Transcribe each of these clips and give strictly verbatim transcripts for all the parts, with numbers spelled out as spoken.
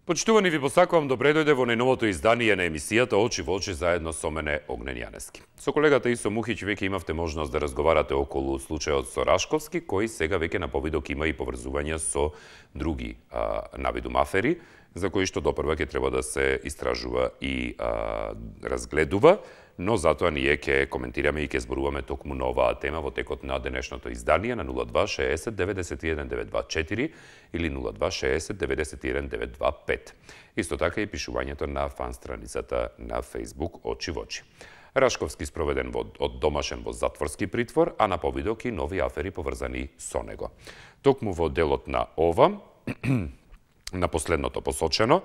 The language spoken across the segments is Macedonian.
Почитувани, ви посакувам добре дојде во најновото издание на емисијата Очи во очи заедно со мене Огнен Јанески. Со колегата Исо Мухиќ веќе имавте можност да разговарате околу случајот со Рашковски, кој сега веќе на повидок има и поврзувања со други а, навидум афери, за кои што допрва ќе треба да се истражува и а, разгледува, но затоа ние ќе коментираме и ќе зборуваме токму на оваа тема во текот на денешното издание на нула два шеесет деветдесет и еден деветстотини и дваесет и четири или нула два шеесет деветдесет и еден деветстотини и дваесет и пет. Исто така и пишувањето на фан страницата на Facebook Очи во очи. Рашковски спроведен во, од домашен во затворски притвор, а на повидок и нови афери поврзани со него. Токму во делот на ова, на последното посочено,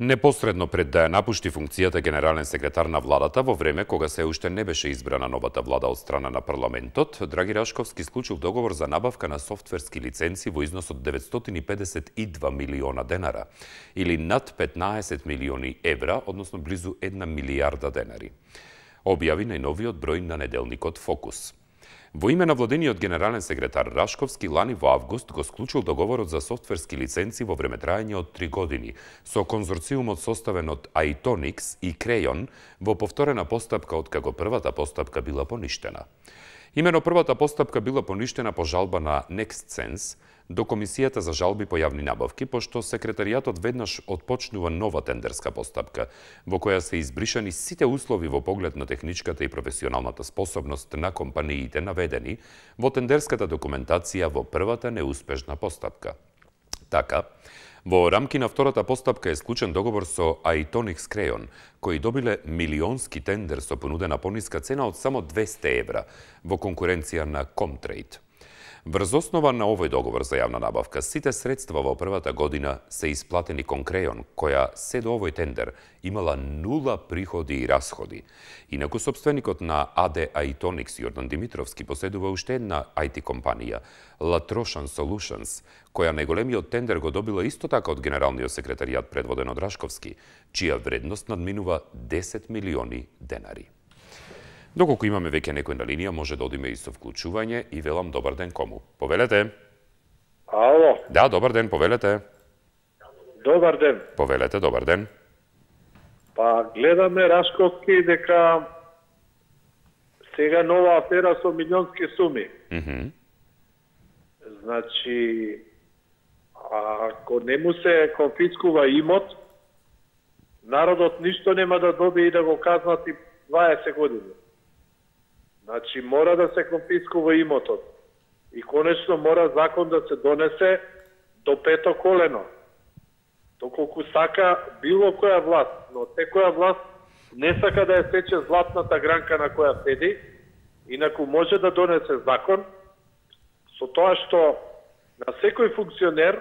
непосредно пред да ја напушти функцијата генерален секретар на владата во време кога се уште не беше избрана новата влада од страна на парламентот, Драги Рашковски склучил договор за набавка на софтверски лиценци во износ од деветстотини и педесет и два милиона денара, или над петнаесет милиони евра, односно близу една милијарда денари. Објави најновиот број на неделникот Фокус. Во име на владениот генерален секретар Рашковски лани во август го склучил договорот за софтверски лиценци во времетраење од три години со конзорциумот составен од Айтоникс и Крејон во повторена постапка од како првата постапка била поништена. Имено првата постапка била поништена по жалба на NextSense до Комисијата за жалби по јавни набавки, пошто секретаријатот веднаш отпочнува нова тендерска постапка, во која се избришани сите услови во поглед на техничката и професионалната способност на компаниите наведени во тендерската документација во првата неуспешна постапка. Така, во рамки на втората постапка е склучен договор со Айтоникс Крејон, кои добиле милионски тендер со понудена пониска цена од само двесте евра во конкуренција на Comtrade. Врз основа на овој договор за јавна набавка, сите средства во првата година се исплатени кон Крејон, која се до овој тендер имала нула приходи и расходи. Инаку собственикот на А Д Айтоникс Јордан Димитровски поседува уште една ай ти компанија, Latroshan Solutions, која најголемиот тендер го добила исто така од генералниот секретаријат предводен од Рашковски, чија вредност надминува десет милиони денари. Доколку имаме веќе некој на линија, може да одиме и со вклучување и велам добар ден кому. Повелете. Ало. Да, добар ден, повелете. Добар ден. Повелете, добар ден. Па гледаме Рашковски дека сега нова афера со милионски суми. Mm -hmm. Значи, ако не му се конфискува имот, народот ништо нема да добие и да го казнат и дваесет години. Значи, мора да се конфискува имотот. И конечно мора закон да се донесе до пето колено. Доколку сака било која власт, но секоја власт не сака да ја сече златната гранка на која седи, инаку може да донесе закон со тоа што на секој функционер,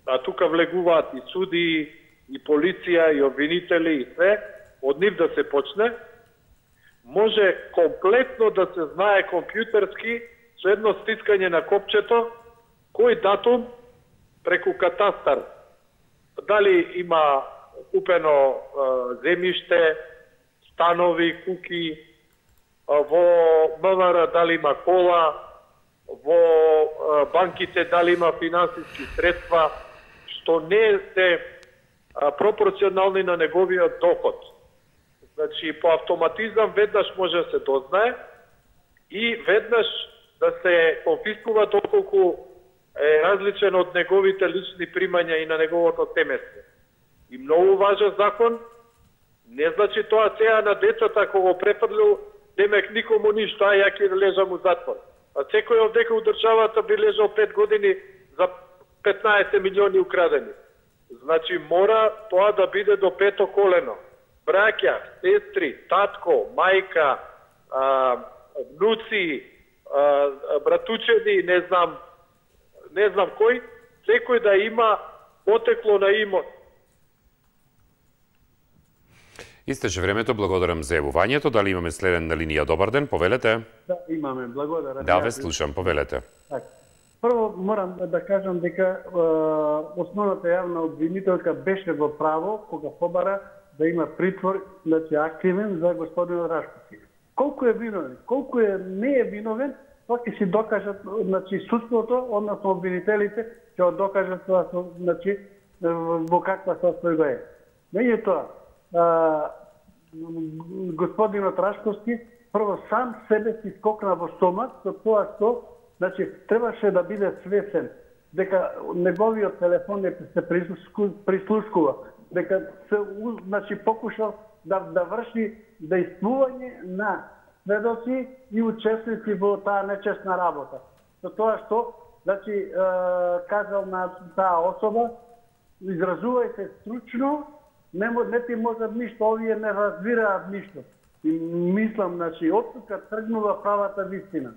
а тука влегуваат и суди, и полиција, и обвинители, и све, од нив да се почне, може комплетно да се знае компјутерски со едно стискање на копчето кој датум преку катастар, дали има купено е, земјиште, станови, куки, во М В Р дали има кола, во е, банките дали има финансиски средства, што не се е, пропорционални на неговиот доход. Значи, по автоматизам веднаш може да се дознае и веднаш да се конфискува доколку е различен од неговите лични примања и на неговото семејство. И многу важен закон, не значи тоа сега на децата ако го префрлил, демек никому ништо, а ја ќе лежам у затвор. А секој овдека у државата би лежал пет години за петнаесет милиони украдени. Значи, мора тоа да биде до пето колено. Браќа, сестри, татко, мајка, а, внуци, а, братучеди, не знам, не знам кој, секој да има потекло на имот. Истече времето, благодарам за јавувањето. Дали имаме следен на линија? Добар ден, повелете. Да, имаме, благодарам. Да, ве слушам, повелете. Так. Прво морам да кажам дека е, основната јавна обвинителка беше во право кога побара да има притвор, значи активен за господин Рашковски. Колку е виновен, колку е не е виновен, тоа ќе си докажат, значи судството, односно обвинителите ќе го докажат тоа, значи во каква состојба е. Меѓутоа, господинот Рашковски прво сам себе си скокна во стомак со тоа што, значи, требаше да биде свесен дека неговиот телефон не се прислушкува, дека се, значи, покушал да, да врши действување на сведоци и учесници во таа нечесна работа. Со тоа што, значи, е, кажал на таа особа, изразувајте стручно, не, не ти можат ништо, овие не разбираат ништо. И мислам, значи, од тука тргнува правата вистина.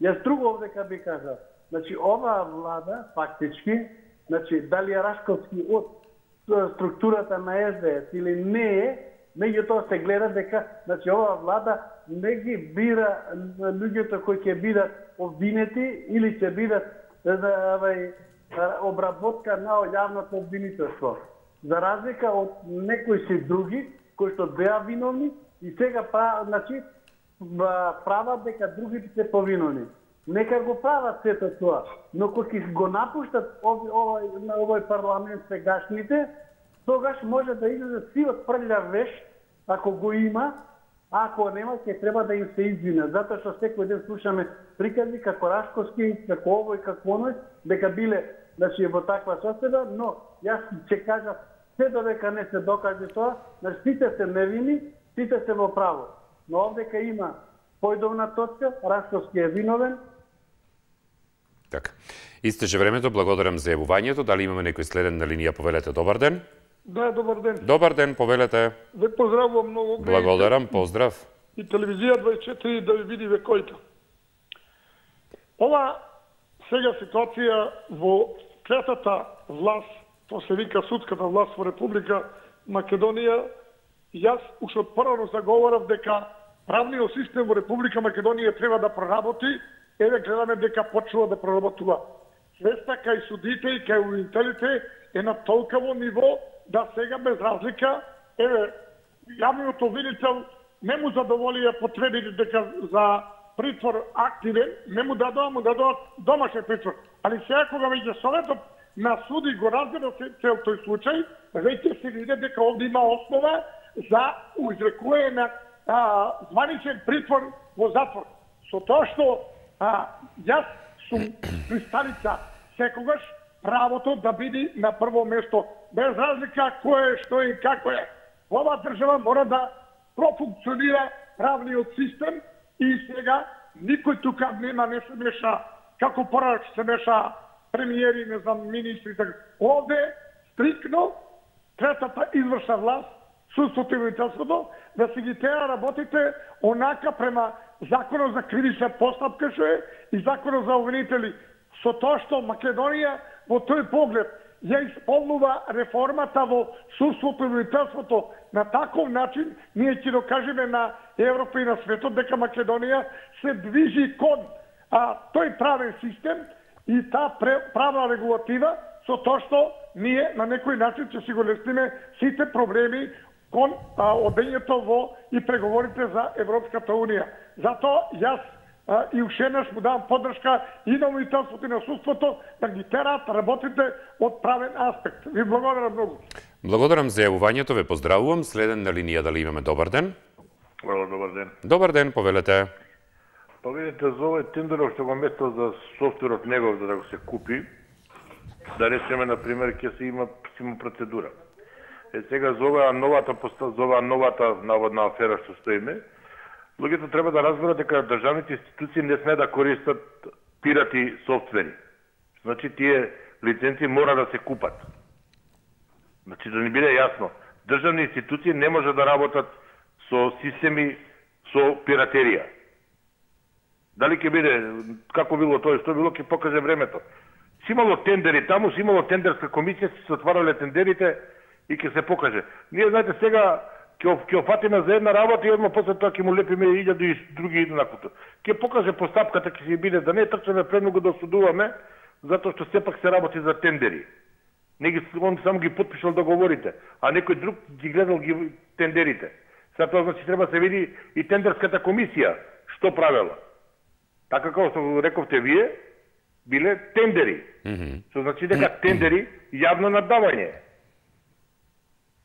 Јас друго овдека би кажал, значи, оваа влада, фактички, значи, дали е Рашковски од структурата на Ес Де Ес или не е, меѓутоа се гледа дека, значи, оваа влада не ги бира луѓето кои ќе бидат обвинети или ќе бидат обработка на јавното обвинителство. За разлика од некои си други, кои што беа виновни и сега прават, значи, прават дека другите се повиновни. Нека го прават сето тоа, но кога ќе го напуштат овој, на овој парламент сегашните, тогаш може да излезе сивот прљав веш, ако го има, а ако нема, ќе треба да им се извинат. Затоа што секој ден слушаме приказни како Рашковски, како овој, како оној, дека биле, значи, во таква состојба, но јас ќе кажам, се додека не се докаже тоа, значи сите се невини, сите се во право. Но овдека има појдовна точка, Рашковски е виновен. Така. Истече времето, благодарам за јавувањето. Дали имаме некој следен на линија? Повелете, добар ден. Да, добар ден. Добар ден, повелете. Ве поздравувам многу. Благодарам, поздрав. И телевизија дваесет и четири да ви види векојка. Ова сега ситуација во третата власт, то се вика судската власт во Република Македонија, јас уште од прво заговорав дека правниот систем во Република Македонија треба да проработи. Еве гледаме дека почнува да проработува. Свеста кај судите и кај обвинителите е на толкаво ниво да сега без разлика, еве, јавниот обвинител не му задоволија потребите дека за притвор активен, не му дадоа, му дадоа домашен притвор. Али сега кога меѓу Советот на суди го разгледа цел тој случај, веќе се види дека овде има основа за изрекување на а, званичен притвор во затвор. Со тоа што а, јас сум пристаница секогаш правото да биде на прво место, без разлика кој е, што е и како е. Ова држава мора да профункционира правниот систем и сега никој тука нема не се меша, како порано се меша премиери, не знам, министри, така. Овде стрикно третата извршна власт, судството и обвинителството, да се ги тера работите онака према Законот за кривична постапка што е и Законот за обвинители. Со тоа што Македонија во тој поглед ја исполнува реформата во судството и обвинителството на таков начин, ние ќе докажеме на Европа и на светот дека Македонија се движи кон а, тој правен систем и таа правна регулатива, со тоа што ние на некој начин ќе си го лесниме сите проблеми кон а, одењето во и преговорите за Европската Унија. Затоа јас а, и уште еднаш му давам поддршка и на обвинителството и на судството да ги терат работите од правен аспект. Ви благодарам многу. Благодарам за јавувањето, ве поздравувам. Следен на линија дали имаме добар ден? Ало, добар ден. Добар ден, повелете. Па видите, за овој тендеров што го метал за софтверот негов за да го се купи, да речеме, например, ќе се има, се има процедура. Е, сега за оваа новата, за оваа новата наводна афера што стоиме, луѓето треба да разберат дека државните институции не сме да користат пирати софтвери. Значи, тие лиценци мора да се купат. Значи, да ни биде јасно, државни институции не може да работат со системи со пиратерија. Дали ќе биде, како било тоа, што било, ќе покаже времето. Си имало тендери таму, си имало тендерска комисија, си се отварале тендерите и ќе се покаже. Ние, знаете, сега ќе офатиме за една работа и одма после тоа ќе му лепиме илјаду и други еднаквото. Ќе покаже постапката, ќе си биде да не трчаме премногу да осудуваме, затоа што сепак се работи за тендери. Не ги, он само ги потпишал договорите, а некој друг ги гледал ги тендерите. Сега тоа значи треба се види и тендерската комисија што правела. Така како што рековте вие, биле тендери. Mm -hmm. Што значи дека тендери јавно надавање.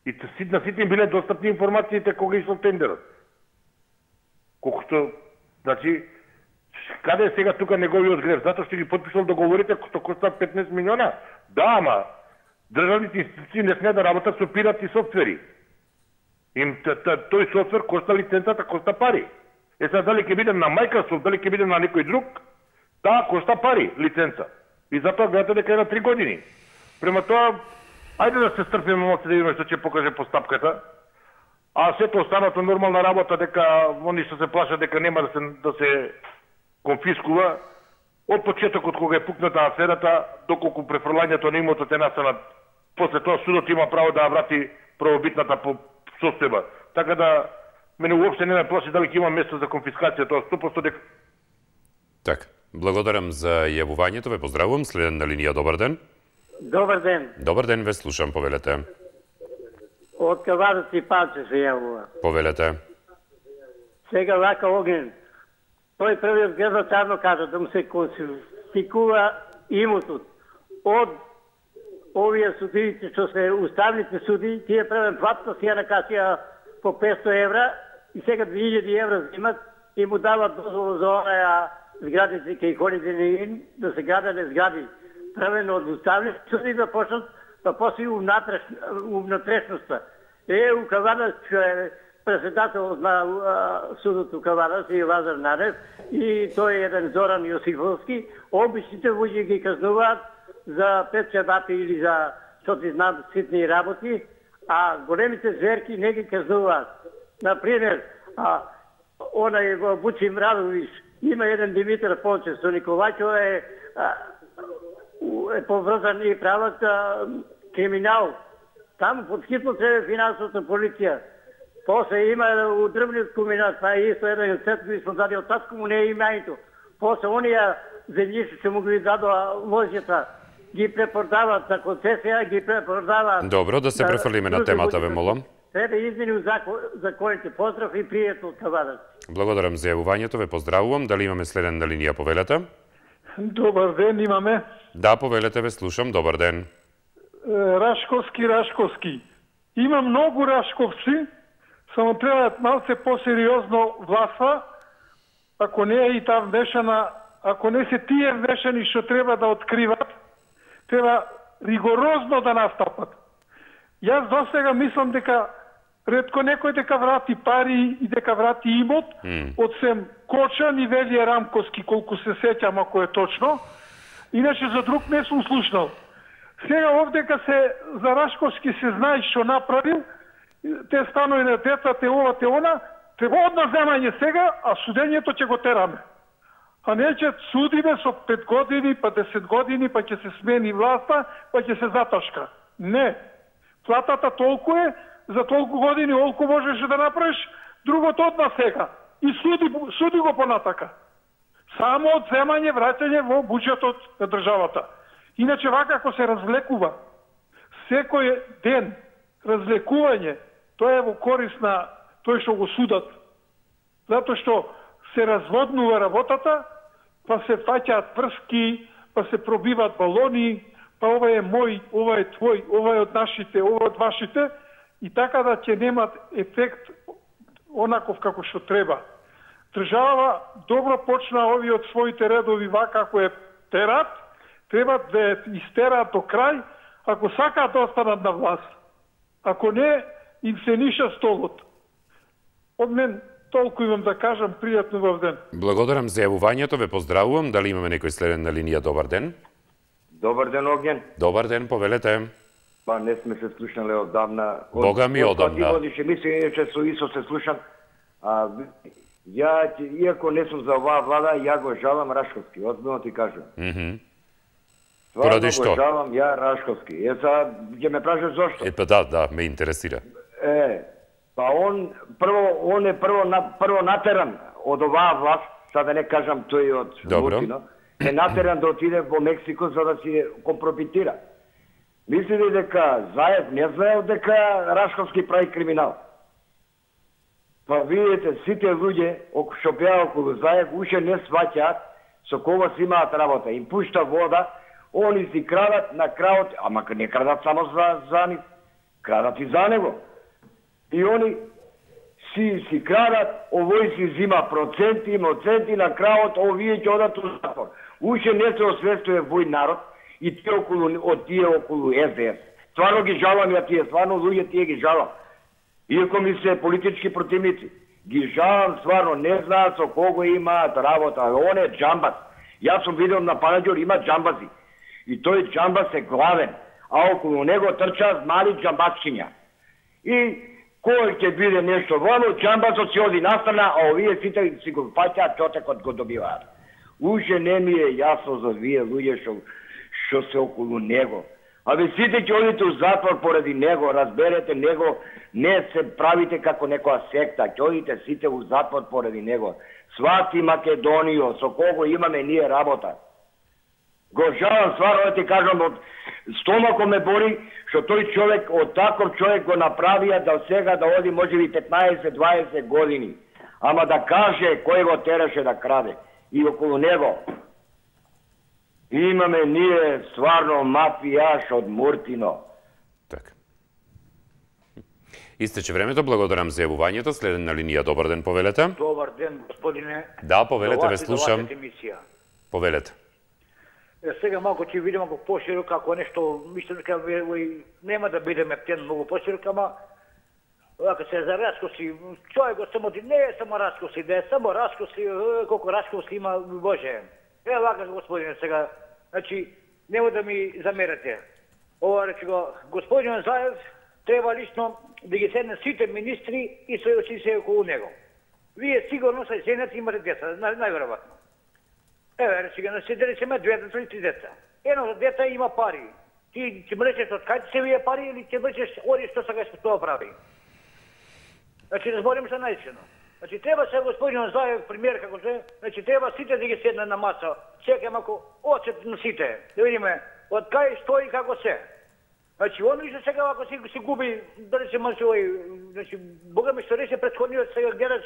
И на сите им биле достапни информациите кога ишол тендерот. Колку што, значи, каде е сега тука неговиот грев? Затоа што ги потпишал договорите што коста петнаесет милиона? Да, ама државните институции не смеат да работат со пиратски софтвери. Им тој софтвер коста лиценцата, коста пари. Е сега дали ќе биде на Microsoft, дали ќе биде на некој друг, таа коста пари лиценца. И затоа гледате дека е на три години. Према тоа, ајде да се стрпиме малку да видиме што ќе покаже постапката. А сето останато нормална работа дека они што се плашат дека нема да се да се конфискува од почетокот кога е пукната аферата доколку префрлањето на имотот е настанат. После тоа судот има право да врати правобитната по состојба. Така да мене уопште не ме плаши дали ќе има место за конфискација, тоа сто проценти дека. Така, благодарам за јавувањето, ве поздравувам. Следен на линија, добар ден. Добар ден. Добар ден, ве слушам, повелете. Од Кавадац и Палче се јавува. Повелете. Сега вака Огнен. Тој првиот гледачарно кажа да му се конфискува имотот од овие судиите што се уставните суди, тие правен платна си ја накасија по петстотини евра и сега две илјади евра взимат и му дават дозвола за онаа зградите кај Холидин да се градат згради правено од уставните суди да почнат па после умнатрешноста. Е, у Кавадац е председател на судот у Кавадац и Лазар Нарев и тој е еден Зоран Јосифовски, обичните луѓе ги казнуваат за пет чебапи или за што ти знам ситни работи, а големите зверки не ги казнуваат. Например, а, онај го Бучи Мрадович, има еден Димитар Пончев со Николаќо е, а, е поврзан и прават а, криминал. Там под хитно треба финансовата полиција. После има у дрвниот комбинат, па исто еден сет кој smo даде од татко му не е имањето. После онија земјишта што му ги дадоа лозјата, ги препродават на концесија, ги препродават. Добро, да се префрлиме на темата, ве молам. Треба измени законите. Поздрав и пријатно од Кавадац. Благодарам за јавувањето, ве поздравувам. Дали имаме следен на линија, повелете? Добар ден, имаме. Да, повелете, ве слушам. Добар ден. Рашковски, Рашковски. Има многу Рашковци, само треба малце посериозно власта, ако не е и таа вмешана, ако не се тие вмешани што треба да откриват, треба ригорозно да настапат. Јас досега мислам дека ретко некој дека врати пари и дека врати имот, mm. од сем Кочан и Велије Рамковски, колку се сеќам ако е точно. Иначе за друг не сум слушнал. Сега овдека се за Рашковски се знае што направил, те станови на деца, те ова, те она, треба одна земање сега, а судењето ќе го тераме. А не ќе судиме со пет години, па десет години, па ќе се смени власта, па ќе се заташка. Не. Платата толку е, за толку години олку можеш да направиш, другото одма сега. И суди, суди го понатака. Само од земање, враќање во буџетот на државата. Иначе вака ако се развлекува, секој ден развлекување, тоа е во корист на тој што го судат. Затоа што се разводнува работата, па се фаќаат врски, па се пробиваат балони, па ова е мој, ова е твој, ова е од нашите, ова од вашите, и така да ќе немат ефект онаков како што треба. Држава добро почна овие од своите редови вака како е терат, треба да ја истераат до крај, ако сакаат да останат на власт. Ако не, им се ниша столот. Од мен толку имам да кажам, пријатно во ден. Благодарам за јавувањето, ве поздравувам. Дали имаме некој следен на линија? Добар ден. Добар ден, Огнен. Добар ден, повелете. Па не сме се слушнале одамна. Бога ми одамна. Водише, мисле, че со Исо се слушам. А, ја, иако не сум за оваа влада, ја го жалам Рашковски, озбилно ти кажам. Mm -hmm. Поради што? Го жалам ја Рашковски. Е, са, ќе ме прашаш зошто? Е, па да, да, ме интересира. Е, Па он прво он е прво на прво натеран од оваа власт, сега да не кажам тој од Муртино, е натеран да отиде во Мексико за да си компрометира. Мислите дека Заев не знаел дека Рашковски прави криминал? Па видите, сите луѓе што беа околу Заев уште не сваќаат со кого си имаат работа. Им пушта вода, они си крадат на краот, ама не крадат само за, за нив, крадат и за него. И они си си крадат, овој си зима проценти, моценти, на краот овие ќе одат у затвор. Уште не се освестува вој народ и тие околу, од тие околу С Д С. Стварно ги жалам ја тие, стварно луѓе тие ги жалам. Иако ми се политички противници. Ги жалам стварно, не знаат со кого имаат работа. Он е джамбас. Јас сум видел на Панаѓор има джамбази. И тој джамбас е главен, а околу него трчаат мали джамбасчиња. И кој ќе биде нешто вано, джамбасот си оди настрана, а овие сите си го фаќаат, чотекот го добиваат. Уште не ми е јасно за вие луѓе што што се околу него. Абе сите ќе одите у затвор поради него, разберете него, не се правите како некоја секта, ќе одите сите у затвор поради него. Свати Македонијо, со кого имаме ние работа. Го жалам стварно да ти кажам, од стомако ме бори, што тој човек, од таков човек го направија да сега да оди можеби петнаесет-дваесет години. Ама да каже кој го тераше да краде. И околу него имаме ние стварно мафијаш од Муртино. Така. Истече времето, благодарам за јавувањето. Следен на линија, добар ден, повелете. Добар ден, господине. Да, повелете, ве слушам. Повелете. Е, сега малку ќе видиме го поширок, како нешто, мислам дека нема да бидеме птен многу поширок, ама вака се за Рашковски, човек го само не е само Рашковски, да е само Рашковски, колку Рашковски има, Боже. Е, вака, господине, сега, значи, нема да ми замерате. Ова, речи го, господин Заев треба лично да ги седне сите министри и се се околу него. Вие сигурно се женат и имате деца, најверојатно. Еве, речи го, се да речеме две или три деца. Едно дете има пари. Ти ќе мречеш од кај се вие пари или ќе мречеш оди што сакаш тоа прави. Значи, да зборим се најчено. Значи, треба се господин Заев, премиер како се, значи, треба сите да ги седне на маса. Чекам ако очет на сите, да видиме од кај што и како се. Значи, он више сега ако си, си губи, да речем, значи, Бога ми што реше предходниот сега гледач,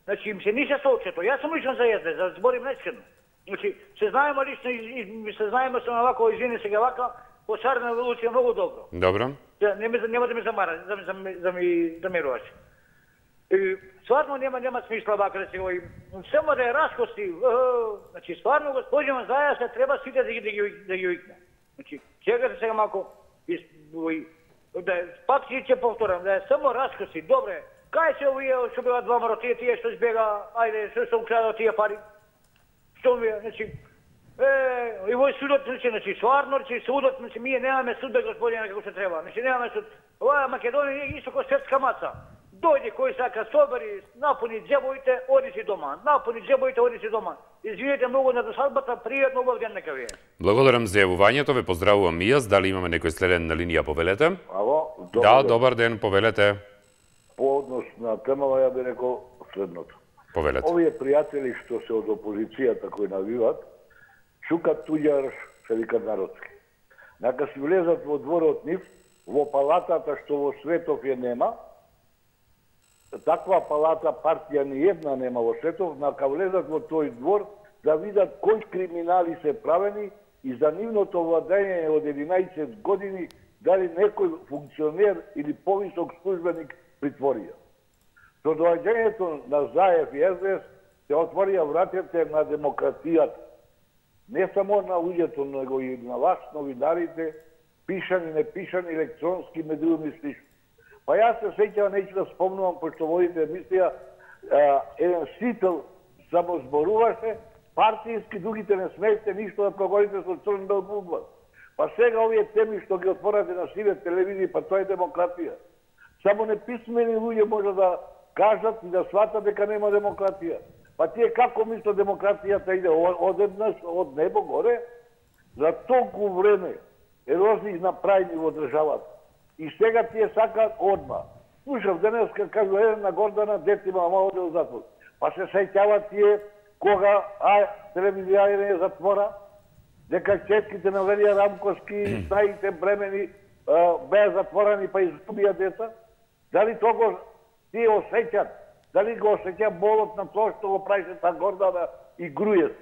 значи, им се нише соочето. Јас сум лично за езде, за да зборим најчено. Значи, се знаеме лично и се знаеме со на вако жени сега вака, по Шарна Луција многу добро. Добро. Нема, нема да ме замара, да ми, да ми замеруваш. И стварно нема нема смисла вака да се го само да е Рашковски. Значи стварно господин Заев се треба сите да ги да ги да ги викне. Значи чекате сега малку да пак ќе повторам да е само Рашковски. Добре. Кај се овие што беа двама тие тие што збега, ајде што што украдаа тие пари. Што ми значи е и вој судот значи значи стварно значи судот значи ние немаме суд господине како се треба. Значи немаме суд. Ова Македонија е исто како светска маца. Дојде кој сака собери, напуни џебовите, оди си дома. Напуни џебовите, оди си дома. Извинете многу на досадбата, пријатно убав ден нека ви е. Благодарам за јавувањето, ве поздравувам и јас. Дали имаме некој следен на линија, повелете? Ало, добар да, ден. добар ден, повелете. По однос на темава ја би рекол следното. Повелете. Овие пријатели што се од опозицијата кои навиват, чукат туѓар, се викат народски. Нека си влезат во дворот нив, во палатата што во светов ја нема, таква палата партија ни една нема во светов, нака влезат во тој двор да видат кои криминали се правени и за нивното владење од единаесет години дали некој функционер или повисок службеник притворија. Со доаѓањето на Заев и С Д С се отворија вратите на демократијата. Не само на луѓето, него и на вас, новинарите, пишани, непишани, електронски медиуми слично. Па јас се сеќавам, неќу да спомнувам, пошто водите емисија, еден сител само зборуваше, партијски, другите не смеете ништо да проговорите со црн бел буква. Па сега овие теми што ги отворате на сиве телевизии, па тоа е демократија. Само неписмени луѓе може да кажат и да сватат дека нема демократија. Па тие како мислат демократијата иде одеднаш од небо горе? За толку време ерозии направени во државата. И сега тие сакаат одма. слушав денеска, кажу, една Гордана, дете има мало да затвор. Па се сеќават тие кога а телевизија е затвора, дека четките на Велија Рамковски, стаите бремени, беа затворени па изгубија деца. Дали тоа го тие осеќат? Дали го осеќа болот на тоа што го правише та Гордана и Грујес?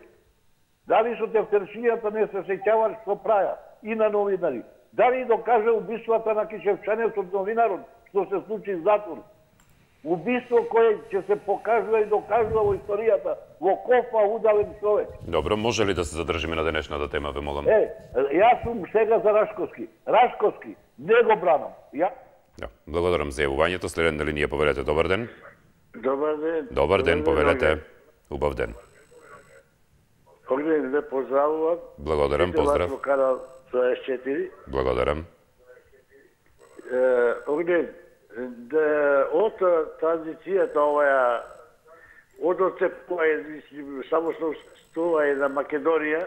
Дали со тефтершијата не се сеќаваш што праја и на новинари? Дали докаже убиствата на Кишевчанец од новинарот, што се случи в затвор? Убиство кое ќе се покажува и докажува во историјата, во кофа удален човек. Добро, може ли да се задржиме на денешната тема, ве молам? Е, јас сум сега за Рашковски. Рашковски, не го бранам. Ја... Да, благодарам за јавувањето. Следен на линија, повелете, добар ден. Добар ден. Добар ден, повелете. Убав ден. Огнен, ве поздравувам. Благодарам, поздрав. Тоа е четири. Благодарам. Огнен, од транзицијата оваа, од оцепување, само што стува е на Македонија,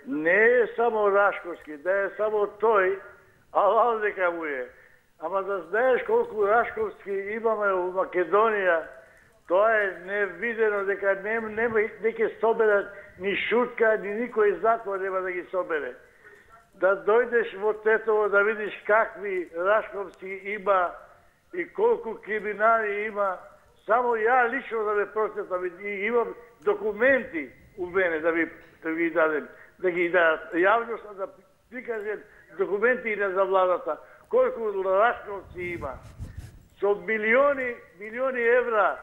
не е само Рашковски, да е само тој, алал дека му е. Ама да знаеш колку Рашковски имаме во Македонија, тоа е невидено, дека не, не, не ќе соберат ни шутка, ни никој затвор нема да ги собере. Да дојдеш во Тетово да видиш какви Рашковски има и колку криминали има, само ја лично да ме прочитам и имам документи у мене да ви, да ви дадем, да ги дадат јавноста, да прикажем документи и за владата, колку Рашковци има. Со милиони, милиони евра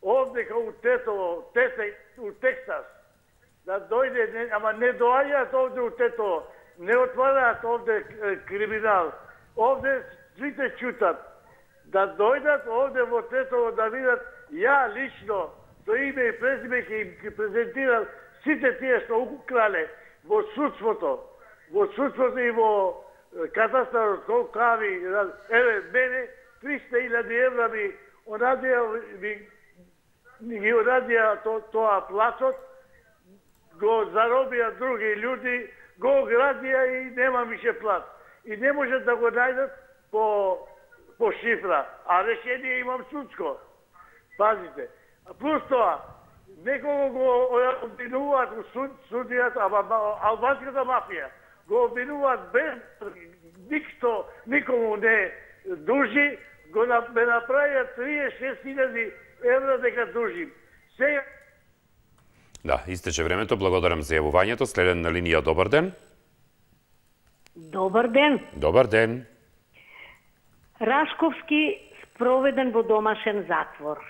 овдека у Тетово, тете, у Тексас, да дојде, ама не доаѓаат овде у Тетово, не отвараат овде криминал. Овде сите чутат. Да дојдат овде во Тетово да видат, ја лично, со име и презиме ќе им ќе презентирам сите тие што украле во судството, во судството и во катастарот, колку кави, еве, мене, триста илјади евра ми орадија, ми, ми ги орадија то, тоа платот, го заробија други луѓе, го градија и нема више плат. И не можат да го најдат по, по шифра, а решение имам судско. Пазите. А плюс тоа, некого го обвинуваат у суд, судијата, ама албанската мафија, го обвинуваат без никто, никому не дужи, го ме направија триесет и шест илјади евра дека дужим. Сега Да, истече времето. Благодарам за јавувањето. Следен на линија, добар ден. Добар ден. Добар ден. Рашковски спроведен во домашен затвор.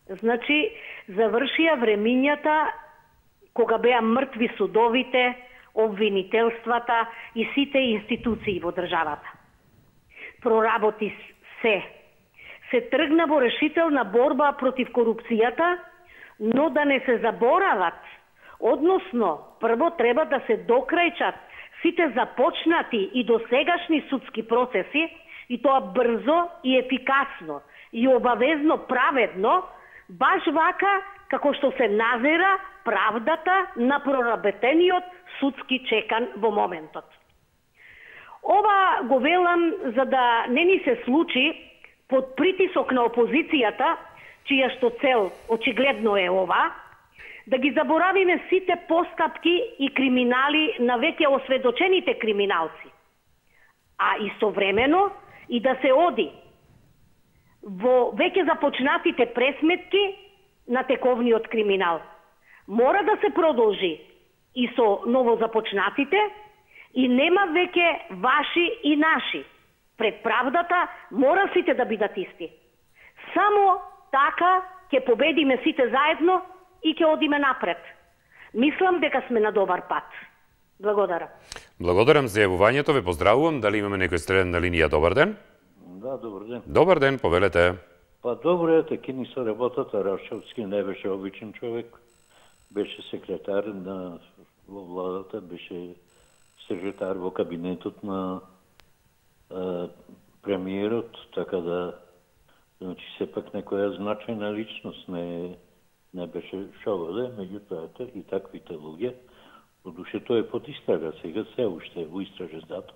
Значи, завршија времињата кога беа мртви судовите, обвинителствата и сите институции во државата. Проработи се. Се тргна во решителна борба против корупцијата, но да не се заборават, односно, прво треба да се докрајчат сите започнати и досегашни судски процеси, и тоа брзо и ефикасно, и обавезно праведно, баш вака како што се назира правдата на проработениот судски чекан во моментот. Ова го велам за да не ни се случи под притисок на опозицијата, чија што цел очигледно е ова, да ги заборавиме сите постапки и криминали на веќе осведочените криминалци, а истовремено и да се оди во веќе започнатите пресметки на тековниот криминал. Мора да се продолжи и со ново започнатите и нема веќе ваши и наши. Пред правдата мора сите да бидат исти. Само така ќе победиме сите заедно и ќе одиме напред. Мислам дека сме на добар пат. Благодарам. Благодарам за јавувањето, ве поздравувам. Дали имаме некој следен на линија? Добар ден. Да, добар ден. Добар ден, повелете. Па добро е, таки ни со работата. Рашковски не беше обичен човек. Беше секретар на во владата, беше секретар во кабинетот на а, премиерот, така да значи сепак некоја значајна личност, не не беше шовале, меѓутоа и таквите луѓе, одуше тој е под истрага сега, се уште во истражен затвор.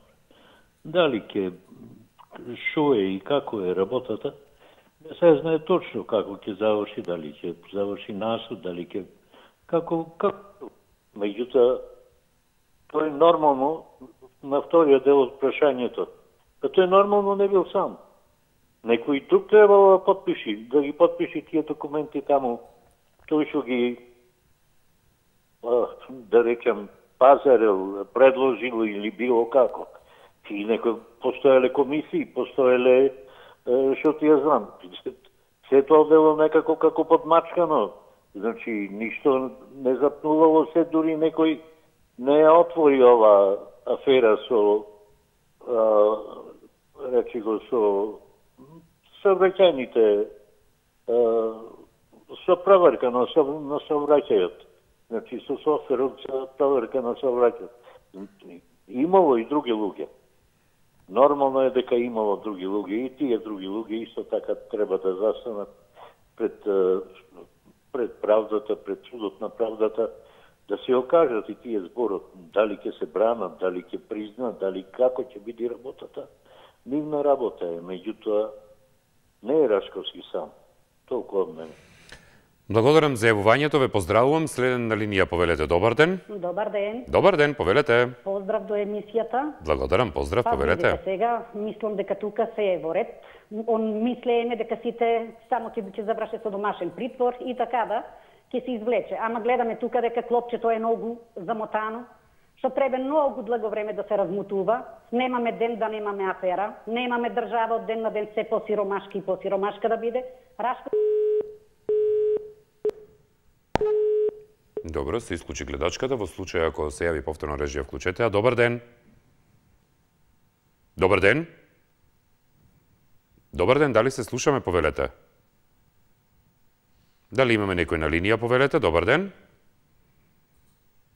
Дали ќе шо е и како е работата, не се знае точно како ќе заврши, дали ќе заврши насуд, дали ќе како како. Меѓутоа, тој нормално на вториот дел од прашањето, па тој нормално не бил сам. Некој друг требало да подпиши, да ги подпиши тие документи таму. Тој што ги, да речем, пазарел, предложил или било како. И некој постоеле комисии, постоеле, што ти ја знам. Се тоа било некако како подмачкано. Значи, ништо не запнулало се, дури некој не ја отвори ова афера со, а, речи го, со сообраќајните, со проверка на, со, на сообраќајот. Значи, со софтверот за проверка на сообраќајот. Имало и други луѓе. Нормално е дека имало други луѓе и тие други луѓе исто така треба да застанат пред, пред правдата, пред судот на правдата, да се окажат и тие зборот, дали ќе се бранат, дали ќе признат, дали како ќе биде работата. Нивна работа е, меѓутоа не е Рашковски сам. Толку од мене. Благодарам за јавувањето, ве поздравувам. Следен на линија, повелете, добар ден. Добар ден. Добар ден, повелете. Поздрав до емисијата. Благодарам, поздрав, па, повелете. Па, сега, мислам дека тука се е во ред. Он мислееме дека сите само ќе ќе завршат со домашен притвор и така да ќе се извлече. Ама гледаме тука дека клопчето е многу замотано, што треба многу длго време да се размутува. Немаме ден да немаме афера, немаме држава од ден на ден се посиромашки и посиромашка да биде. Рашко... Добро, се исклучи гледачката. Во случај ако се јави повторно режија, вклучете ја. Добар ден. Добар ден. Добар ден, дали се слушаме, повелете? Дали имаме некој на линија, повелете? Добар ден.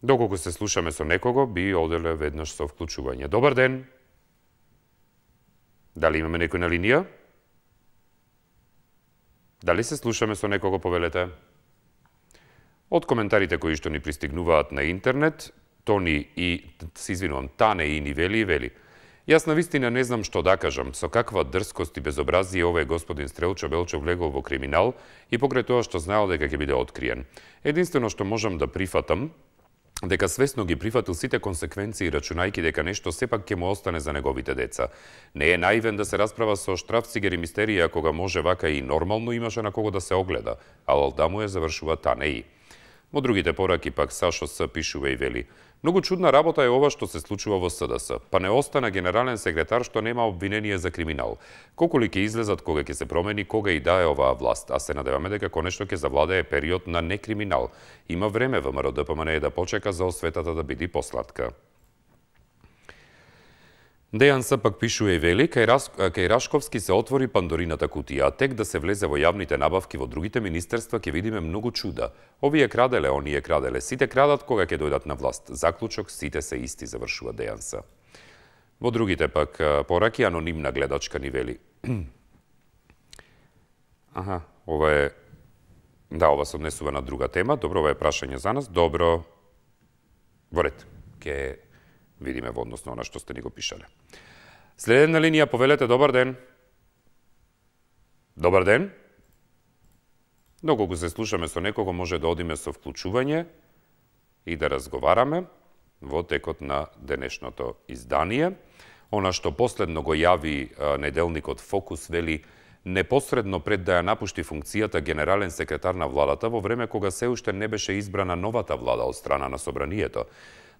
Доколку се слушаме со некого, би оделе веднаш со вклучување. Добар ден. Дали имаме некој на линија? Дали се слушаме со некого, повелете? Од коментарите кои што ни пристигнуваат на интернет, Тони и, се извинувам, Тане и ни вели и вели. Јас на вистина не знам што да кажам, со каква дрскост и безобразие овој господин Стрелчо Белчо влегол во криминал и покрај тоа што знаел дека ќе биде откриен. Единствено што можам да прифатам, дека свесно ги прифатил сите консеквенции, рачунајки дека нешто сепак ќе му остане за неговите деца. Не е наивен да се расправа со Штрафцигер и Мистерија, кога може вака и нормално имаше на кого да се огледа, а алда му е завршува Тане и. Во другите пораки пак Сашо С. пишува и вели: многу чудна работа е ова што се случува во С Д С. Па не остана генерален секретар што нема обвинение за криминал. Колку ли ќе излезат, кога ќе се промени, кога и да е оваа власт, а се надеваме дека конечно ќе завладее период на некриминал. Има време ВМРО Д П М Н да почека за осветата да биде посладка. Дејан С. пак пишува и вели: кај, Рас... кај Рашковски се отвори Пандорината кутија, а тек да се влезе во јавните набавки во другите министерства ќе видиме многу чуда. Овие краделе, оние краделе, сите крадат кога ќе дојдат на власт. Заклучок, сите се исти, завршува Дејан С. Во другите пак пораки анонимна гледачка ни вели: аха, ова е... Да, ова се однесува на друга тема. Добро, ова е прашање за нас. Добро. Во ред. Ке видиме во однос на она што сте ни го пишале. Следен на линија, повелете, добар ден. Добар ден. Доколку се слушаме со некого, може да одиме со вклучување и да разговараме во текот на денешното издание. Она што последно го јави неделникот Фокус, вели: непосредно пред да ја напушти функцијата генерален секретар на владата, во време кога се уште не беше избрана новата влада од страна на Собранието,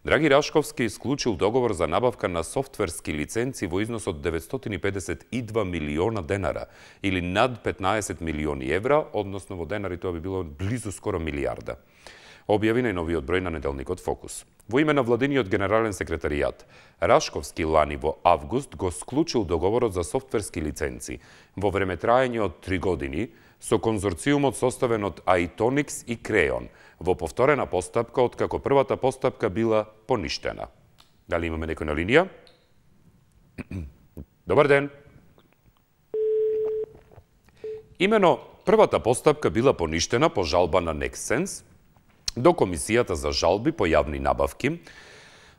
Драги Рашковски исклучил договор за набавка на софтверски лиценци во износ од деветстотини педесет и два милиона денара, или над петнаесет милиони евра, односно во денари тоа би било близу скоро милиарда. Објави најновиот број на неделникот Фокус. Во име на владиниот генерален секретаријат, Рашковски лани во август го склучил договорот за софтверски лиценци во време траење од три години со конзорциумот составен од Айтоникс и Креон, во повторена постапка откако првата постапка била поништена. Дали имаме некој на линија? Добар ден. Имено првата постапка била поништена по жалба на Nexsense до Комисијата за жалби по јавни набавки,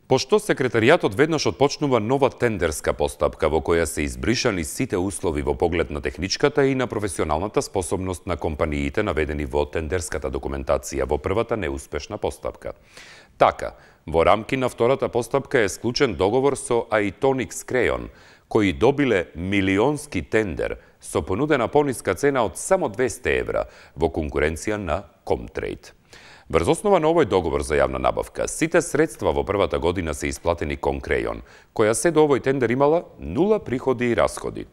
Пошто секретаријатот веднаш отпочнува нова тендерска постапка во која се избришани сите услови во поглед на техничката и на професионалната способност на компаниите наведени во тендерската документација во првата неуспешна постапка. Така, во рамки на втората постапка е склучен договор со Aitonex Crayon, кои добиле милионски тендер со понудена пониска цена од само двесте евра во конкуренција на Comtrade. Врз основа на овој договор за јавна набавка, сите средства во првата година се исплатени кон Crayon, која се до овој тендер имала нула приходи и расходи.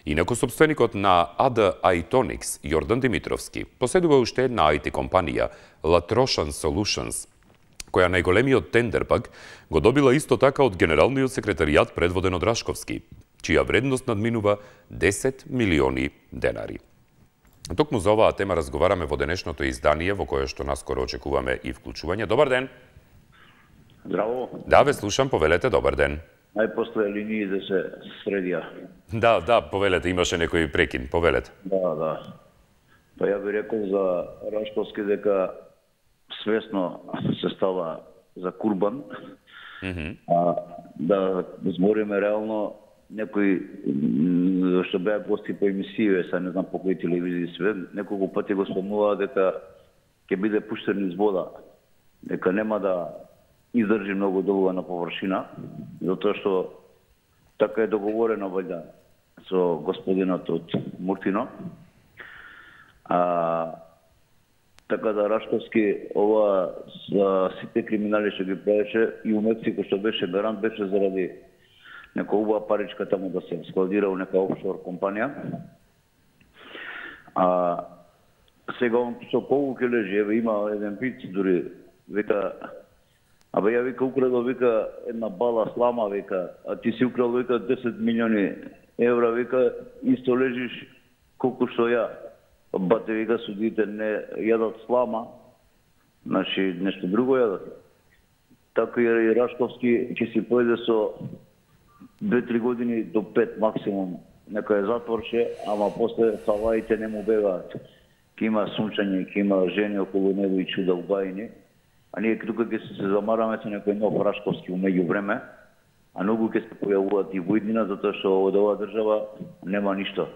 Инаку собственикот на А Д Aitonex, Јордан Димитровски, поседува уште една ай ти компанија, Latroshan Solutions, која најголемиот тендер пак го добила исто така од Генералниот секретаријат предводен од Рашковски, чија вредност надминува десет милиони денари. Токму за оваа тема разговараме во денешното издание, во кое што наскоро очекуваме и вклучување. Добар ден. Здраво. Да, ве слушам, повелете, добар ден. Најпосле линии да се средија. Да, да, повелете, имаше некој прекин, повелете. Да, да. Па ја би рекол за Рашковски дека свесно се става за курбан, mm -hmm. а да збориме реално некои што беа гости по емисија, са не знам по кои телевизии све, неколку пати го спомнуваа дека ќе биде пуштен из вода, дека нема да издржи многу долго на површина, затоа што така е договорено вајда со господинот од Муртино. А така да Рашковски ова за сите криминали што ги правеше и у Мексико што беше гарант беше заради нека убава паричка таму да се складира у нека офшор компанија. А сега он со колку ќе лежи, еве има еден пиц дури, вика, абе ја вика украдо, вика една бала слама, вика, а ти си украл, вика десет милиони евра, вика, исто лежиш колку што ја. Бате, вика, судите не јадат слама, значи нешто друго јадат. Така и Рашковски ќе си појде со две-три години до пет максимум некој затворче, ама после салаите не му бегаат. Ке има сунчање, ке има жени околу него и чуда убајни, а ние тука ќе се замараме со некој нов Рашковски у меѓувреме, а многу ќе се појавуваат и војдина, затоа што од оваа држава нема ништо.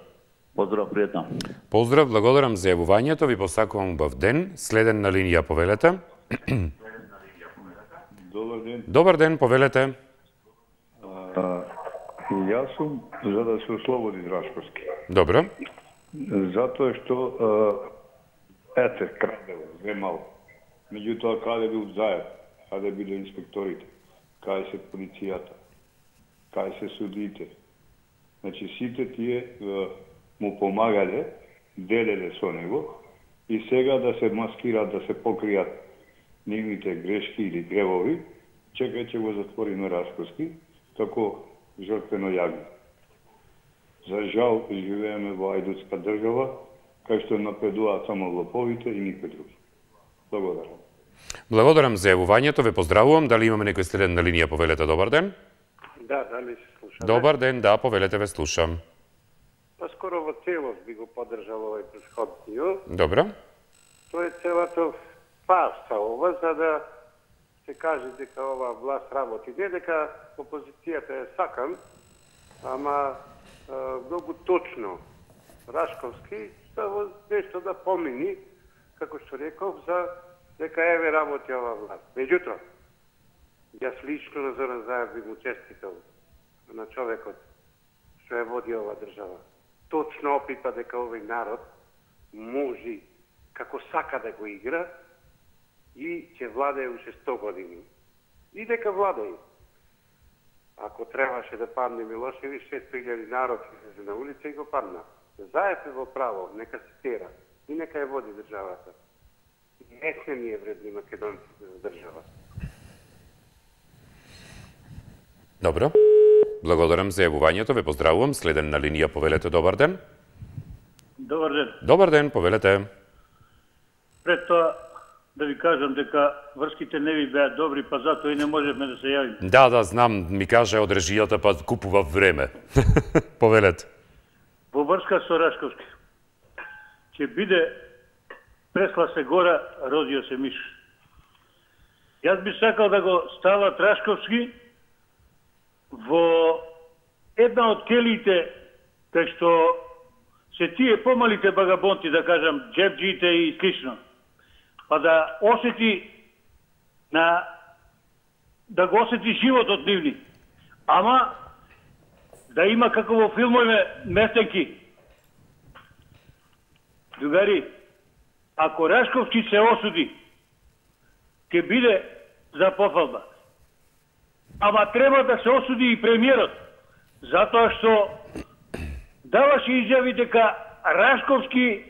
Поздрав, пријатно. Поздрав, благодарам за јавувањето, ви посакувам убав ден. Следен на линија, повелете. Добар ден. Добар ден, повелете. А, јас сум за да се ослободи Рашковски. Добро. Затоа што ете, крадел, земал. Меѓутоа, каде бил заед, каде биле инспекторите, каде се полицијата, каде се судиите. Значи, сите тие му помагале, делеле со него и сега да се маскираат, да се покријат нивните грешки или гревови, чекај ќе го затвориме Рашковски, како жртвено јагне. За жал, живееме во ајдутска држава, кај што напредуваат само лоповите и никој други. Благодарам. Благодарам за јавувањето, ве поздравувам. Дали имаме некој следен на линија, повелете, добар ден? Да, дали се слушаме? Добар ден, да, повелете, ве слушам. Скоро во целост би го поддржал овој претходниот. Добро. Тоа е целата фарса ова, за да се каже дека ова власт работи. Не дека опозицијата е сакан, ама е, многу точно Рашковски става нешто да помини, како што реков, за дека еве работи ова власт. Меѓутоа, јас лично на Зоран Заев би му честитал на човекот што ја води ова држава. Точно опипа дека овој народ може како сака да го игра и ќе владее уште сто години. И дека владее. Ако требаше да падне Милошевич, шест илјади народ излезе на улица и го падна. Заев е во право, нека се тера и нека ја води државата. Не сме ние вредни македонци за држава. Добро. Благодарам за јавувањето, ве поздравувам. Следен на линија, повелете, добар ден. Добар ден. Добар ден, повелете. Пред тоа да ви кажам дека врските не ви беа добри, па затоа и не можевме да се јавиме. Да, да, знам, ми каже од режијата, па купува време. Повелете. Во врска со Рашковски ќе биде пресла се гора, родио се миш. Јас би сакал да го става Трашковски во една од келиите, кај што се тие помалите багабонти, да кажам, джебджиите и слично, па да осети на да го осети животот нивни. Ама да има како во филмове местенки. Другари, ако Рашковски се осуди, ќе биде за пофалба. Ама треба да се осуди и премиерот, затоа што даваше изјави дека Рашковски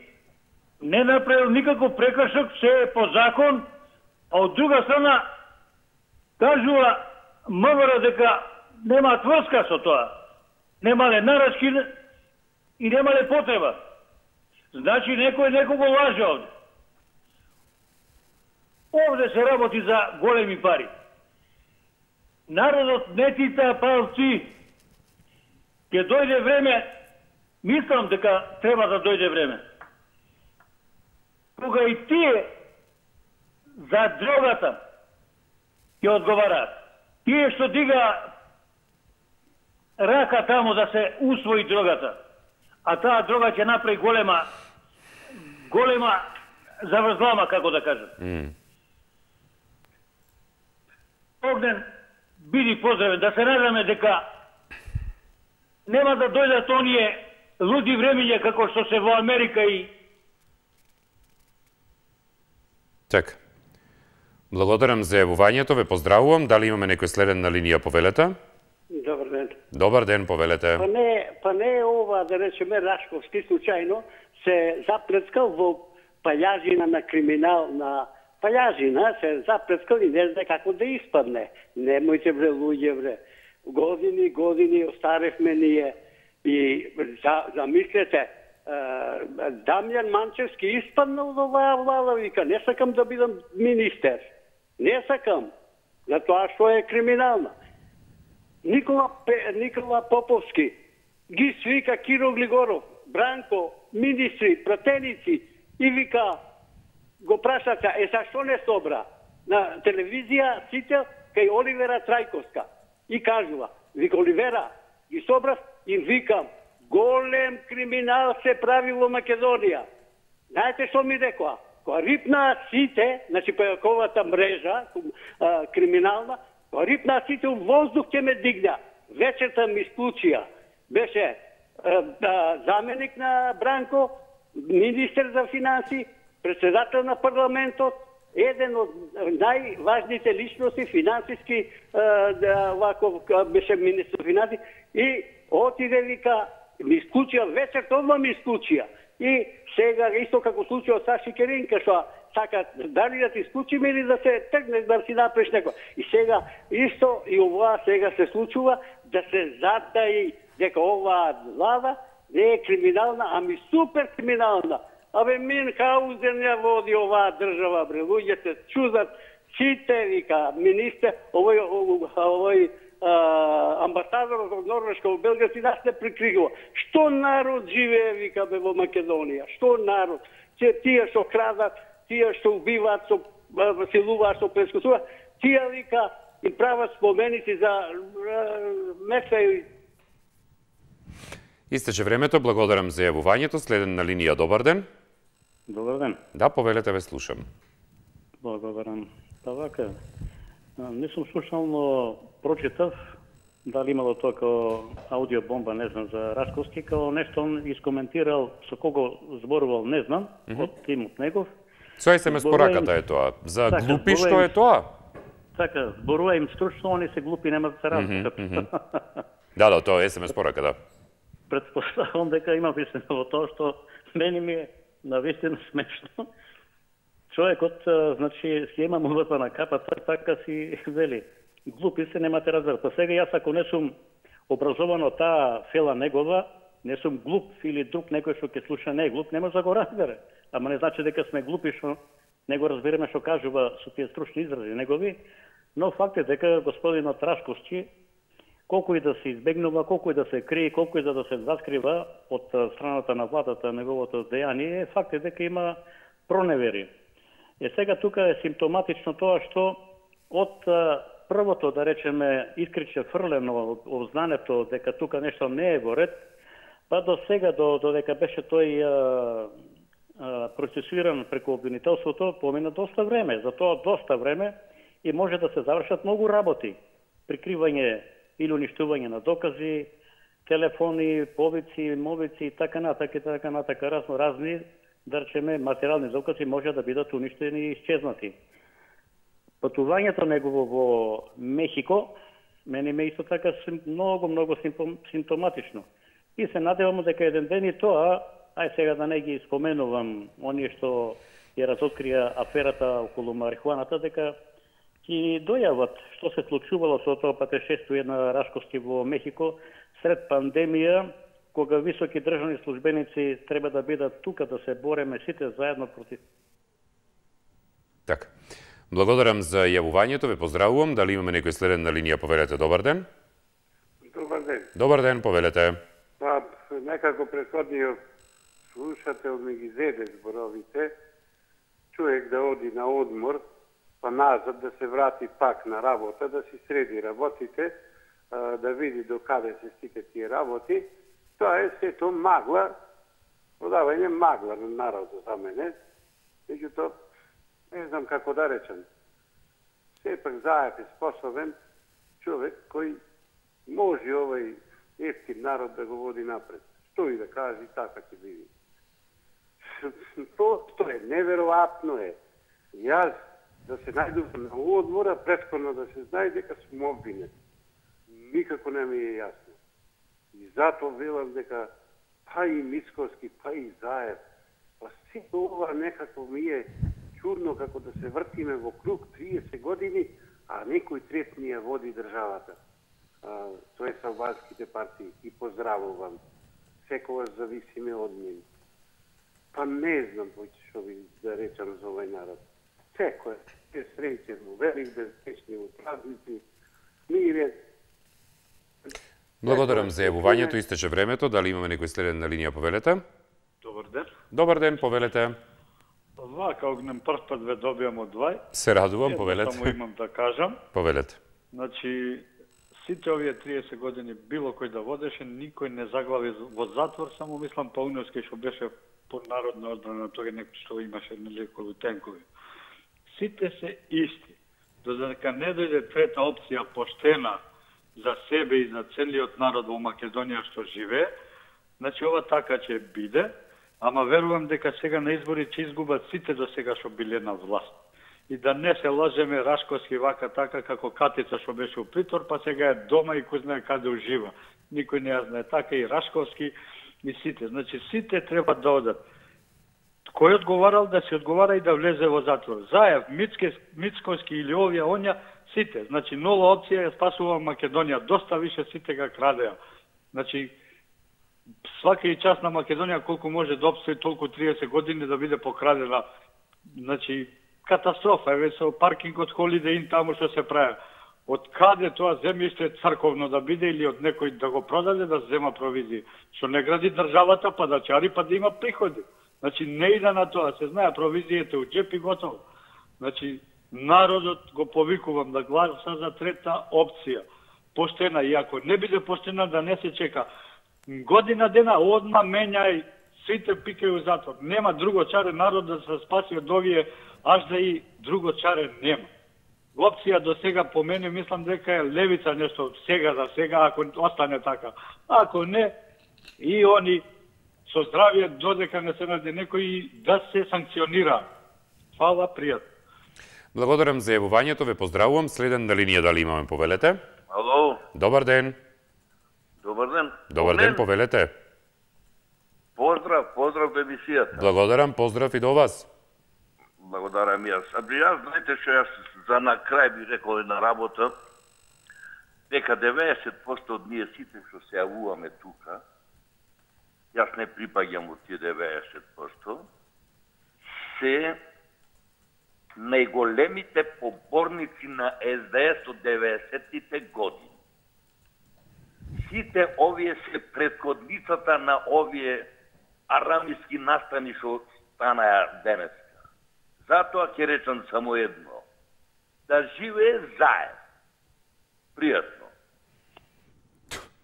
не направил никаков прекршок, се е по закон, а од друга страна кажува МВР дека нема врска со тоа. Немале нарачки и немале потреба. Значи некој некого лаже овде. Овде се работи за големи пари. Народот не тита палци. Ке дојде време, мислам дека треба да дојде време, кога и тие за дрогата ќе одговараат. Тие што дига рака таму да се усвои дрогата, а таа дрога ќе направи голема голема заврзлама, како да кажам. Mm. Огнен, биди поздравен, да се надаме дека нема да дојдат оние луди времиња како што се во Америка и... Така. Благодарам за јавувањето, ве поздравувам. Дали имаме некој следен на линија, повелете? Добар ден. Добар ден, повелете. Па не, па не е ова, да речеме, Рашковски случајно се заплескал во пајажина на криминал, на пајажина се заплескал и не знае како да испадне. Немојте бре, луѓе бре. Години, години остаревме ние и за, замислете, Дамјан Манчевски испаднал од оваа влада, вика, не сакам да бидам министер. Не сакам, затоа што е криминална. Никола, Никола Поповски ги свика Киро Глигоров, Бранко, министри, пратеници и вика, го прашаца, е зашто не собра? На телевизија сите кај Оливера Трајковска и кажува, вика Оливера, ги собрав и викам, голем криминал се прави во Македонија. Знаете што ми рекоа? Кога рипнаа сите, значи пајаковата мрежа а, криминална, кога рипнаа сите у воздух ќе ме дигна. Вечерта ми случија. Беше а, а, заменик на Бранко, министер за финанси, председател на парламентот, еден од најважните личности финансиски, а, вако беше министер финанси, и отиде вика, ми исклучија, вечерта одма ми исклучија. И сега, исто како случај од Саши Керинка, што сака дали да ти исклучиме или да се тргнеш да си направиш некој. И сега, исто и оваа сега се случува, да се затаи дека оваа влада не е криминална, ами супер криминална. Абе, Минхаузен ја води оваа држава, бре, луѓе се чудат, сите, вика, министер, овој, овој, овој Uh, амбасадорот од Норвешка во Белгија си нас не прикригува. Што народ живее, вика, бе, во Македонија? Што народ? Че тие што крадат, тие што убиваат, што силуваат, што прескусуваат, тие, вика, и прават споменици за места и... Истече времето, благодарам за јавувањето. Следен на линија, добар ден. Добар ден. Да, повелете, ве слушам. Благодарам. Па вака, не сум слушал, но прочитав дали имало тоа као аудиобомба, не знам, за Рашковски, као нешто он искоментирал со кого зборувал, не знам, mm -hmm. од тимот негов. Со ес ем ес пораката е тоа. За така, глупи што е тоа? Така, зборува им стручно, они се глупи, нема да се разберат. Mm -hmm. Да, да, тоа е ес ем ес порака, да. Предпоставам дека има вистина во тоа што мене ми е навистина смешно. Човекот, значи, си има мовата на капата, така си вели. Глупи се, немате разберат. Па сега јас ако не сум образован од таа фела негова, не сум глуп или друг некој што ќе слуша не е глуп, не може да го разбере. Ама не значи дека сме глупи што не го разбереме што кажува со тие стручни изрази негови, но факт е дека господинот Рашковски, колку и да се избегнува, колку и да се крие, колку и да се заскрива од страната на владата неговото дејание, факт е дека има проневери. Е сега тука е симптоматично тоа што од првото, да речеме, искриче фрлено од знанието дека тука нешто не е во ред, па до сега, до, до дека беше тој а, а, процесуиран преку обвинителството, помина доста време. За тоа доста време и може да се завршат многу работи. Прикривање или уништување на докази, телефони, повици, мовици и така натака и така натака, разно разни, да речеме, материјални докази може да бидат уништени и исчезнати. Патувањето негово во Мехико мене ме исто така многу, многу симптоматично. И се надевам дека еден ден и тоа, ај сега да не ги споменувам оние што ја разоткрија аферата околу марихуаната, дека ќе дојават што се случувало со тоа патешествие на Рашковски во Мехико сред пандемија, кога високи државни службеници треба да бидат тука да се бореме сите заедно против. Така. Благодарам за јавувањето, ве поздравувам. Дали имаме некој следен на линија, повелете, добар ден. Добар ден. Добар ден, повелете. Па, некако предходниот слушател ми ги зеде зборовите, човек да оди на одмор, па назад да се врати пак на работа, да си среди работите, да види до каде се стике тие работи. Тоа е сето магла, продавање магла на народот за мене. Меѓутоа, не знам како да речем. Сепак Заев е способен човек кој може овој ефтин народ да го води напред. Што и да каже, така ќе биде. Тоа е неверојатно е. Јас да се најдувам на одмора, претходно да се знае дека сум обвинет. Никако не ми е јасно. И затоа велам дека па и Мицковски, па и Заев, па сето ова некако ми е чудно како да се вртиме во круг триесет години, а некој трет ни ја води државата. А, тоа е албанските партии. И поздравувам. Секогаш зависиме од нив. Па не знам што ви да речам за овој народ. Секој е среќен во велик, безпечни во празници, мирен. Благодарам за јавувањето, истече времето. Дали имаме некој следен на линија, повелете? Добар ден. Добар ден, повелете. Вака огнем прв пат ве добијам од двај. Се радувам, повелете. Само имам да кажам. Повелете. Значи, сите овие триесет години било кој да водеше, никој не заглави во затвор, само мислам Пауневски што беше под народна одбрана, тоа е некој што имаше нелекови тенкови. Сите се исти. Додека не дојде трета опција поштена за себе и за целиот народ во Македонија што живее, значи ова така ќе биде, ама верувам дека сега на избори ќе изгубат сите до сега што биле на власт. И да не се лажеме Рашковски вака така како Катица што беше у притвор, па сега е дома и кој знае каде ужива. Никој не ја знае. Така и Рашковски и сите. Значи сите треба да одат. Кој одговарал да се одговара и да влезе во затвор. Заев, Мицковски или овие, онја, сите. Значи нова опција ја спасува Македонија. Доста више сите га крадеа. Значи свака и час на Македонија колку може да обстои толку триесет години да биде покрадена. Значи катастрофа, еве со паркингот Holiday Inn таму што се прави. Од каде тоа земјиште црковно да биде или од некој да го продаде да зема провизија? Што не гради државата па да чари па да има приходи. Значи не иде на тоа, се знае провизијата у џеп и готово. Значи народот го повикувам да гласа за трета опција. Поштена, и ако не биде поштена да не се чека. Година дена одма менјај, сите пикају затвор. Нема друго чаре народ да се спаси од овие, аж да и друго чаре нема. Опција до сега по мене мислам дека е левица нешто сега за сега, ако остане така. Ако не, и они со здравје додека не се најде некој да се санкционира. Фала, пријат. Благодарам за јавувањето, ве поздравувам. Следен на линија, дали имаме, повелете? Ало. Добар ден. Добар ден. Добар ден, повелете. Поздрав, поздрав до емисијата. Благодарам, поздрав и до вас. Благодарам јас. А би јас, знаете што јас за на крај би рекол една работа, дека деветдесет проценти од ние сите што се јавуваме тука, јас не припаѓам во тие деветдесет проценти, се најголемите поборници на Ес Де Ес од деветдесеттите години. Сите овие се претходницата на овие арамиски настани што станаја денеска. Затоа ќе речам само едно. да живее заедно. Пријатно.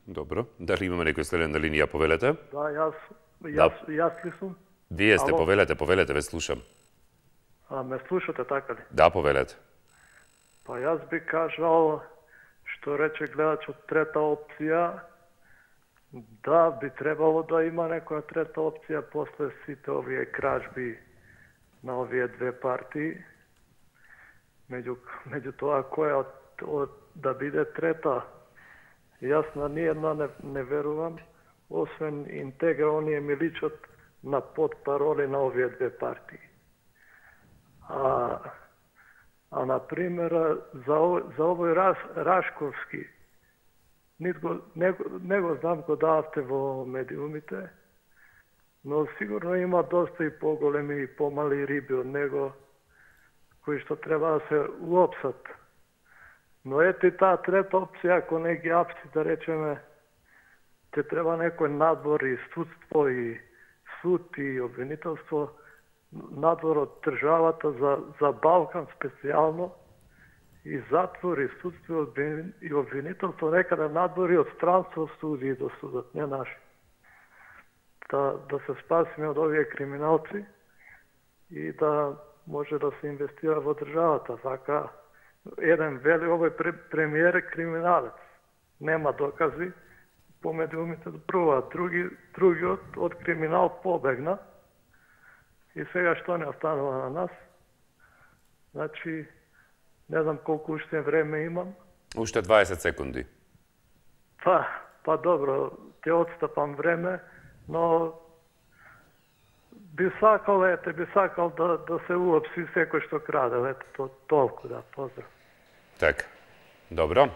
Добро. Дали имаме некој следен на линија, повелете? Да, јас, јас, да. јас ли сум? Вие сте, Ало? повелете, повелете, ве слушам. А, ме слушате, така ли? Да, повелете. Па јас би кажал, што рече гледачот, трета опција, да, би требало да има некоја трета опција после сите овие кражби на овие две партии. Меѓу, меѓу тоа која од, од, да биде трета, јас на ниједна не, не верувам, освен Интегра, оние ми личат на подпароли на овие две партии. А, а например, за, за овој Раш, Рашковски, Нитко, не, не го знам, го дававте во медиумите, но сигурно има доста и поголеми и помали риби од него, кои што треба да се уопсат. Но ете таа трета опција, ако не ги апси, да речеме, те треба некој надвор и судство и суд и обвинителство, надвор од државата за, за Балкан специјално, и затвор, и судство, и обвинителство, некаде надвори од странство суди до судот, не наши. Да, да се спасиме од овие криминалци и да може да се инвестира во државата. Вака, еден вели, овој премиер е криминалец. Нема докази, по медиумите допруваат. Други, други од, од криминал побегна. И сега што не останува на нас? Значи, не знам колку уште време имам. Уште дваесет секунди. Па, па добро, те отстапам време, но би сакал, ете, би сакал да, да се уопси секој што краде, ете, то, толку, да, поздрав. Така, добро.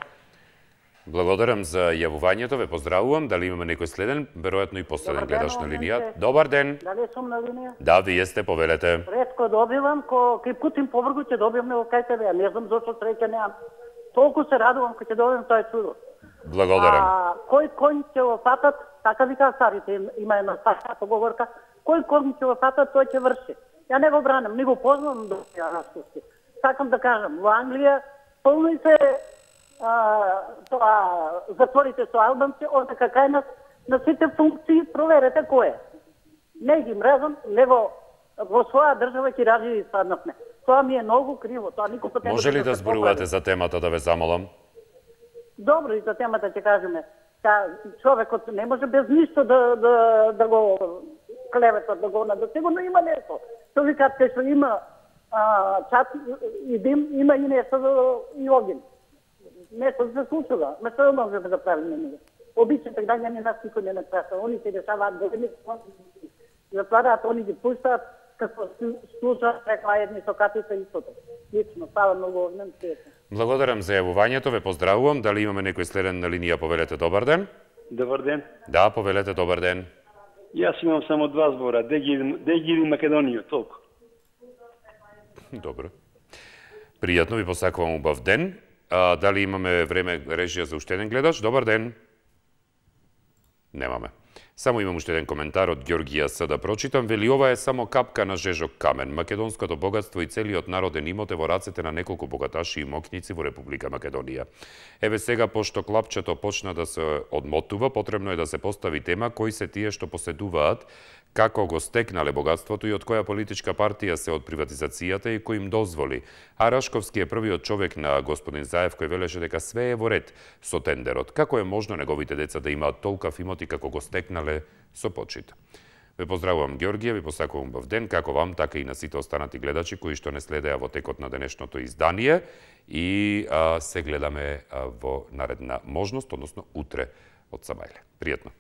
Благодарам за јавувањето, ве поздравувам. Дали имаме некој следен, веројатно и последен гледаш на линија. Добар ден. Дали сум на линија? Да, вие сте, повелете. Ретко добивам, ко кај Путин повргу ќе добивам него кај тебе. Не знам зашто среќа немам. Толку се радувам кога ќе добивам тоа чудо. Благодарам. А кој конј ќе го фатат, така вика старите, има една стара поговорка, кој конј ќе го фатат, тој ќе врши. Ја не го бранам, не го познавам до ја Рашковски. Сакам да кажам, во Англија полно се а, тоа затворите со албанци, одека кај нас на сите функции проверете кој е. Не ги мрезам, него во своја држава ќе ради и саднавме. Тоа ми е многу криво, тоа никога не. Може ли да зборувате за темата, да ве замолам? Добро, и за темата ќе кажеме. Та човекот не може без ништо да да да го клеветат, да го да сигурно има нешто. Што викаат кај што има а, чат и дим, има и нешто и огин. Нешто се случува, ме што може да правиме ние. Обичните граѓани нас никој не напраша, они се решаваат големи, затвараат, они ги пуштаат, како слушаат рекла едни со катите истото. Лично, става многу огнен свет. Благодарам за јавувањето, ве поздравувам. Дали имаме некој следен на линија, повелете, добар ден. Добар ден. Да, повелете, добар ден. Јас имам само два збора, де ги иди Македонија, толку. Добро. Пријатно, ви посакувам убав ден. А, дали имаме време режија за уште еден гледач? Добар ден. Немаме. Само имам уште еден коментар од Ѓоргија С да прочитам. Вели, ова е само капка на жежок камен. Македонското богатство и целиот народен имот е во рацете на неколку богаташи и мокњици во Република Македонија. Еве сега, пошто клапчето почна да се одмотува, потребно е да се постави тема кои се тие што поседуваат, како го стекнале богатството и од која политичка партија се од приватизацијата и кој им дозволи. А Рашковски е првиот човек на господин Заев кој велеше дека све е во ред со тендерот. Како е можно неговите деца да имаат толкав имоти како го стекнале со почит? Ве поздравувам, Ѓоргија, ви посакувам бав ден, како вам, така и на сите останати гледачи кои што не следеа во текот на денешното издание и а, се гледаме а, во наредна можност, односно утре од Самајле. Пријатно.